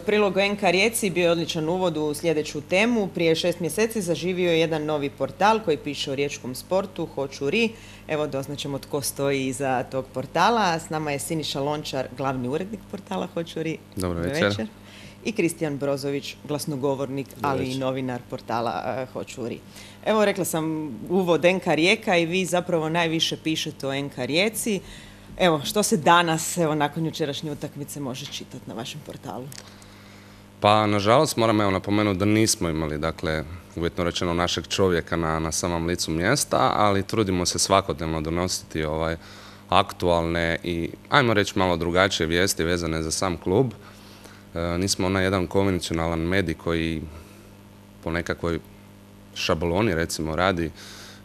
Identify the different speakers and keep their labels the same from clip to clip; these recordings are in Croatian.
Speaker 1: Prilog o NK Rijeci bio je odličan uvod u sljedeću temu. Prije 6 mjeseci zaživio je jedan novi portal koji piše o riječkom sportu, Hoću.ri. Evo, doznaćemo tko stoji iza tog portala. S nama je Siniša Lončar, glavni urednik portala Hoću.ri.
Speaker 2: Dobro večer.
Speaker 1: I Kristijan Brozović, glasnogovornik, ali i novinar portala Hoću.ri. Evo, rekla sam uvod NK Rijeka i vi zapravo najviše pišete o NK Rijeci. Evo, što se danas, nakon jučerašnje utakmice, može čitati na vašem portalu?
Speaker 2: Pa, nažalost, moram napomenuti da nismo imali, dakle, uvjetno rečeno, našeg čovjeka na samom licu mjesta, ali trudimo se svakodnevno donositi aktualne i, ajmo reći, malo drugačije vijesti vezane za sam klub. Nismo onaj jedan konvencionalan medij koji po nekakvoj šabloni, recimo, radi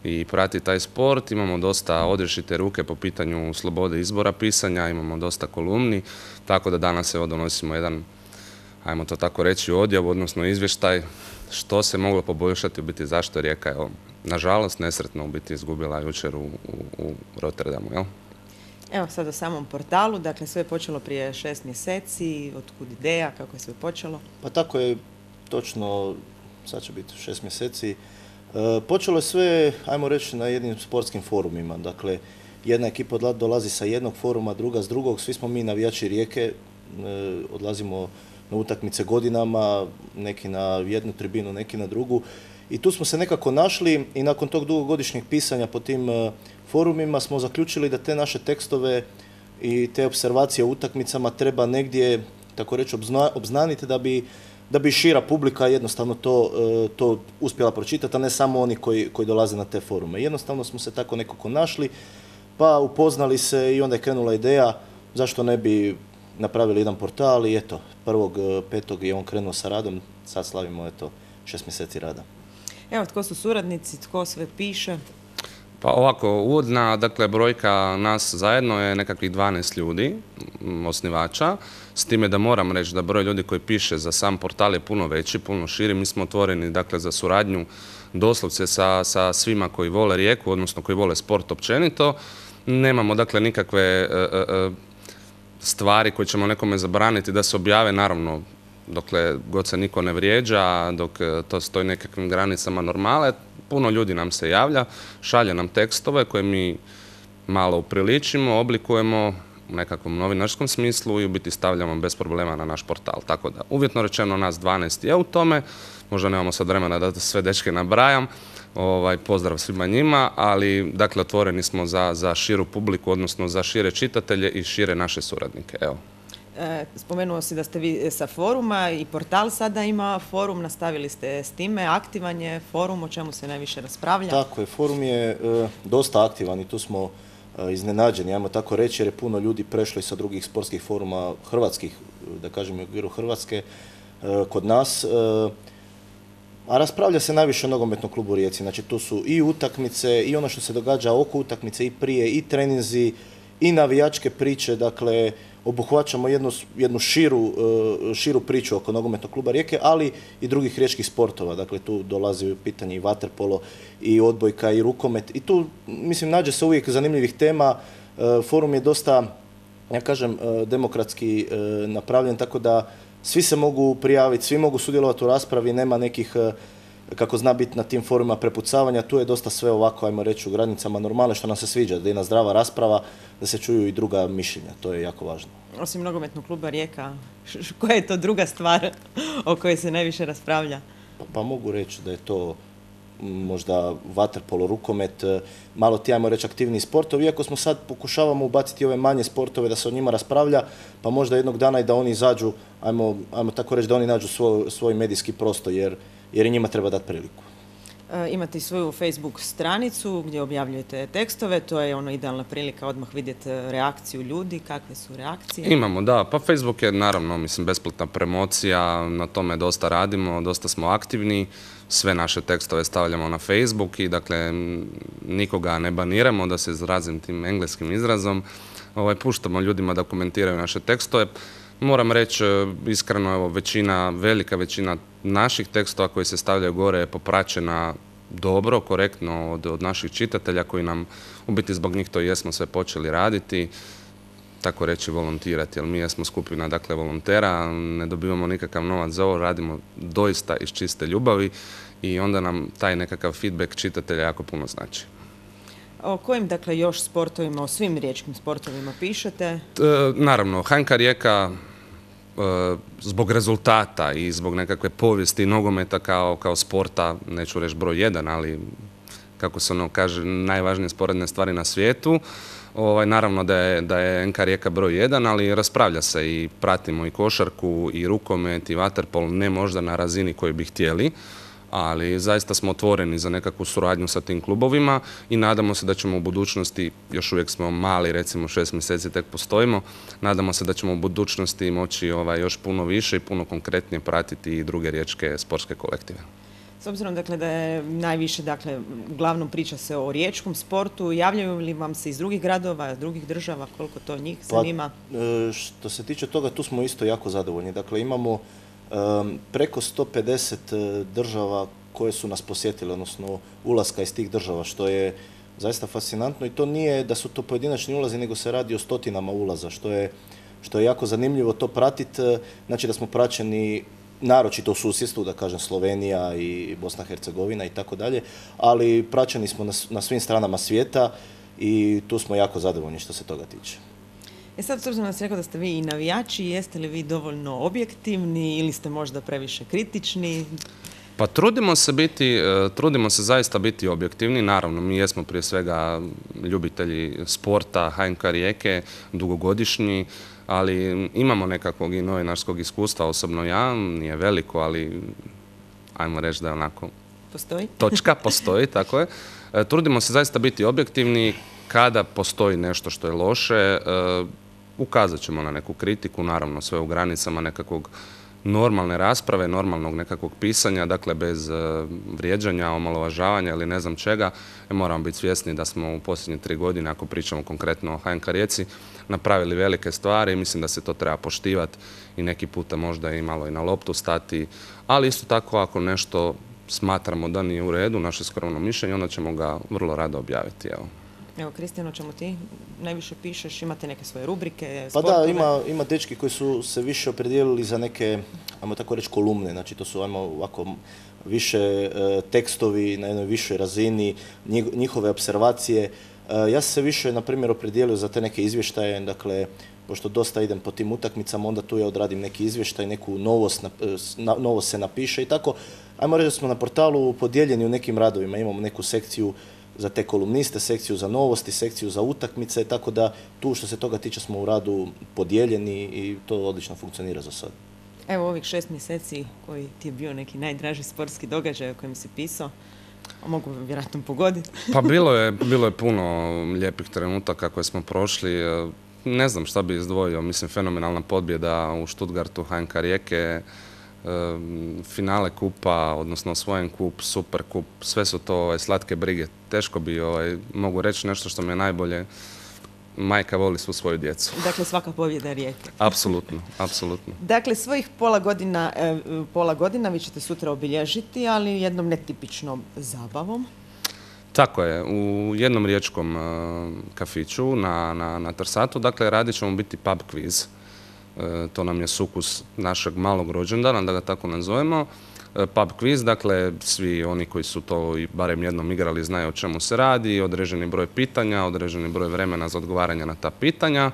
Speaker 2: i prati taj sport. Imamo dosta odrješite ruke po pitanju slobode izbora pisanja, imamo dosta kolumni, tako da danas donosimo jedan, ajmo to tako reći, odjav, odnosno izvještaj što se moglo poboljšati, u biti zašto je Rijeka, nažalost, nesretno u biti izgubila jučer u Rotterdamu, jel?
Speaker 1: Evo sad o samom portalu, dakle sve je počelo prije 6 mjeseci, otkud ideja, kako je sve počelo?
Speaker 3: Pa tako je, točno, sad će biti 6 mjeseci. Počelo je sve, ajmo reći, na jednim sportskim forumima. Dakle, jedna ekipa dolazi sa jednog foruma, druga s drugog. Svi smo mi navijači Rijeke, odlazimo na utakmice godinama, neki na jednu tribinu, neki na drugu. I tu smo se nekako našli i nakon tog dugogodišnjeg pisanja po tim forumima smo zaključili da te naše tekstove i te observacije o utakmicama treba negdje, tako reći, obznaniti da bi šira publika jednostavno to uspjela pročitati, a ne samo oni koji dolaze na te forume. Jednostavno smo se tako nekako našli, pa upoznali se i onda je krenula ideja zašto ne bi napravili jedan portal i eto, 1.5. je on krenuo sa radom, sad slavimo 6 mjeseci rada.
Speaker 1: Evo, tko su suradnici, tko sve piše?
Speaker 2: Pa ovako, uvodna, dakle, brojka nas zajedno je nekakvih 12 ljudi, osnivača, s time da moram reći da broj ljudi koji piše za sam portal je puno veći, puno širi. Mi smo otvoreni, dakle, za suradnju doslovce sa svima koji vole Rijeku, odnosno koji vole sport općenito. Nemamo, dakle, nikakve stvari koje ćemo nekome zabraniti da se objave, naravno, dokle god se niko ne vrijeđa, dok to stoji nekakvim granicama normale. Puno ljudi nam se javlja, šalje nam tekstove koje mi malo upriličimo, oblikujemo u nekakvom novinarskom smislu i u biti stavljamo bez problema na naš portal. Tako da, uvjetno rečeno, nas 12 je u tome, možda nemamo sad vremena da sve dečke nabrajam, pozdrav svima njima, ali dakle otvoreni smo za širu publiku, odnosno za šire čitatelje i šire naše suradnike. Evo.
Speaker 1: Spomenuo si da ste vi sa foruma i portal sada ima forum, nastavili ste s time, aktivan je forum, o čemu se najviše raspravlja?
Speaker 3: Tako je, forum je dosta aktivan i tu smo iznenađeni, ajmo tako reći, jer je puno ljudi prešlo i sa drugih sportskih foruma hrvatskih, da kažem u okviru Hrvatske, kod nas. A raspravlja se najviše o nogometnom klubu Rijeci, znači tu su i utakmice i ono što se događa oko utakmice i prije, i treninzi, i navijačke priče, dakle, obuhvaćamo jednu širu priču oko nogometnog kluba Rijeke, ali i drugih riječkih sportova. Dakle, tu dolazi u pitanje i vaterpolo, i odbojka, i rukomet. I tu, mislim, nađe se uvijek zanimljivih tema. Forum je dosta, ja kažem, demokratski napravljen, tako da svi se mogu prijaviti, svi mogu sudjelovati u raspravi, nema nekih, kako zna biti na tim forumima, prepucavanja. Tu je dosta sve ovako, ajmo reći, u granicama normale, što nam se sviđa, da je jedna zdrava rasprava, da se čuju i druga mišljenja. To je jako važno.
Speaker 1: Osim nogometnog kluba Rijeka, koja je to druga stvar o kojoj se najviše raspravlja?
Speaker 3: Pa mogu reći da je to možda vaterpolo, rukomet, malo ti, ajmo reći, aktivniji sportovi, iako smo sad pokušavamo ubaciti ove manje sportove da se o njima raspravlja, pa možda jednog dana i da oni izađu, ajmo tako reći, da oni nađu svoj medijski prostor, jer i njima treba dati priliku.
Speaker 1: Imate i svoju Facebook stranicu gdje objavljujete tekstove, to je idealna prilika odmah vidjeti reakciju ljudi, kakve su reakcije?
Speaker 2: Imamo, da, pa Facebook je naravno, mislim, besplatna promocija, na tome dosta radimo, dosta smo aktivni, sve naše tekstove stavljamo na Facebook i dakle nikoga ne baniramo, da se izrazim tim engleskim izrazom, puštamo ljudima da komentiraju naše tekstove. Moram reći, iskreno, evo, velika većina naših tekstova koji se stavljaju gore je popraćena dobro, korektno od naših čitatelja koji nam, u biti zbog njih to jesmo sve počeli raditi. tako reći, volontirati, jer mi jesmo skupina, dakle, volontera, ne dobivamo nikakav novac za ovo, radimo doista iz čiste ljubavi i onda nam taj nekakav feedback čitatelja jako puno znači.
Speaker 1: O kojim, dakle, još sportovima, o svim riječkim sportovima pišete?
Speaker 2: Naravno, HNK Rijeka zbog rezultata i zbog nekakve povijesti nogometa kao sporta, neću reći broj 1, ali kako se ono kaže, najvažnije sporedne stvari na svijetu. Naravno da je NK Rijeka broj 1, ali raspravlja se i pratimo i košarku, i rukomet, i vaterpol, ne možda na razini koju bi htjeli, ali zaista smo otvoreni za nekakvu suradnju sa tim klubovima i nadamo se da ćemo u budućnosti, još uvijek smo mali, recimo 6 mjeseci tek postojimo, nadamo se da ćemo u budućnosti moći još puno više i puno konkretnije pratiti i druge riječke sportske kolektive.
Speaker 1: S obzirom, dakle, da je najviše, dakle, uglavnom priča se o riječkom sportu, javljaju li vam se iz drugih gradova, drugih država, koliko to njih zanima?
Speaker 3: Što se tiče toga, tu smo isto jako zadovoljni. Dakle, imamo preko 150 država koje su nas posjetile, odnosno ulaska iz tih država, što je zaista fascinantno i to nije da su to pojedinačni ulazi, nego se radi o stotinama ulaza, što je jako zanimljivo to pratiti. Znači da smo praćeni naročito u susjedstvu, da kažem Slovenija i Bosna i Hercegovina i tako dalje, ali praćeni smo na svim stranama svijeta i tu smo jako zadovoljni što se toga tiče.
Speaker 1: Sad, s obzirom da ste rekao da ste vi i navijači, jeste li vi dovoljno objektivni ili ste možda previše kritični?
Speaker 2: Pa trudimo se zaista biti objektivni. Naravno, mi jesmo prije svega ljubitelji sporta, HNK Rijeke, dugogodišnji, ali imamo nekakvog i novinarskog iskustva, osobno ja, nije veliko, ali ajmo reći da je onako...
Speaker 1: Postoji?
Speaker 2: Točka, postoji, tako je. Trudimo se zaista biti objektivni. Kada postoji nešto što je loše, ukazat ćemo na neku kritiku, naravno sve u granicama nekakvog normalne rasprave, normalnog nekakvog pisanja, dakle bez vrijeđanja, omalovažavanja ili ne znam čega. Moramo biti svjesni da smo u posljednje 3 godine, ako pričamo konkretno o HNK Rijeci, napravili velike stvari i mislim da se to treba poštivati i neki puta možda i malo i na loptu stati, ali isto tako ako nešto smatramo da nije u redu, naše skromno mišljenje, onda ćemo ga vrlo rado objaviti.
Speaker 1: Evo, Kristijano, o čemu ti najviše pišeš? Imate neke svoje rubrike,
Speaker 3: sportove? Pa da, ima dečki koji su se više opredijelili za neke, ajmo tako reći, kolumne. Znači, to su, ajmo ovako, više tekstovi na jednoj višoj razini, njihove observacije. Ja sam se više, na primjer, opredijelio za te neke izvještaje, dakle, pošto dosta idem po tim utakmicama, onda tu ja odradim neki izvještaj, neku novost se napiše i tako. Ajmo reći da smo na portalu podijeljeni u nekim radovima, imamo neku sekciju za te kolumniste, sekciju za novosti, sekciju za utakmice, tako da tu što se toga tiče smo u radu podijeljeni i to odlično funkcionira za sad.
Speaker 1: Evo ovih 6 mjeseci koji ti je bio neki najdraži sportski događaj o kojem si pisao, mogu vjerojatno pogoditi.
Speaker 2: Pa bilo je puno lijepih trenutaka koje smo prošli. Ne znam šta bi izdvojio, mislim fenomenalna pobjeda u Stuttgartu HNK Rijeke, finale kupa, odnosno osvojen kup, super kup, sve su to slatke brige. Teško bi mogu reći nešto što mi je najbolje. Majka voli svu svoju djecu.
Speaker 1: Dakle, svaka pobjeda Rijeke.
Speaker 2: Apsolutno, apsolutno.
Speaker 1: Dakle, svojih pola godina vi ćete sutra obilježiti, ali jednom netipičnom zabavom.
Speaker 2: Tako je, u jednom riječkom kafiću na Trsatu, dakle, radit ćemo biti pub quiz. To nam je sukus našeg malog rođendana, da ga tako nazovemo. Pub quiz, dakle, svi oni koji su to i barem jednom igrali znaju o čemu se radi, određeni broj pitanja, određeni broj vremena za odgovaranje na ta pitanja.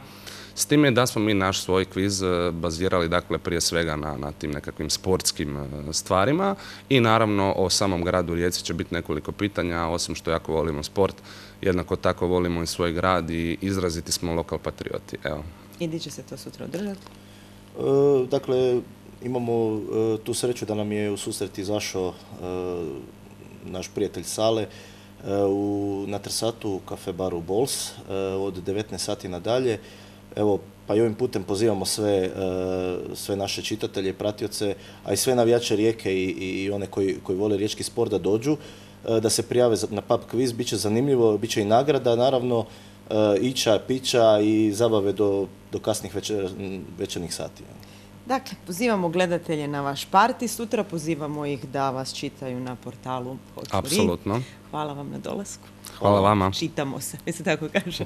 Speaker 2: S time da smo mi naš svoj kviz bazirali, dakle, prije svega na tim nekakvim sportskim stvarima i naravno o samom gradu Rijeci će biti nekoliko pitanja, osim što jako volimo sport, jednako tako volimo i svoj grad i izraziti smo lokal patrioti. Evo.
Speaker 1: I gdje će se to sutra održati?
Speaker 3: Dakle, imamo tu sreću da nam je u susret izašao naš prijatelj Sale na Trsatu u kafe baru Bols od 19 sati nadalje. Evo, pa i ovim putem pozivamo sve naše čitatelje, pratioce, a i sve navijače Rijeke i one koji vole riječki sport da dođu, da se prijave na pub quiz. Biće zanimljivo, bit će i nagrada, naravno, ića, pića i zabave do kasnih večernjih sati.
Speaker 1: Dakle, pozivamo gledatelje na vaš parti sutra, pozivamo ih da vas čitaju na portalu Hoću Ri.
Speaker 2: Apsolutno.
Speaker 1: Hvala vam na dolasku.
Speaker 2: Hvala vama.
Speaker 1: Čitamo se, mi se tako kaže.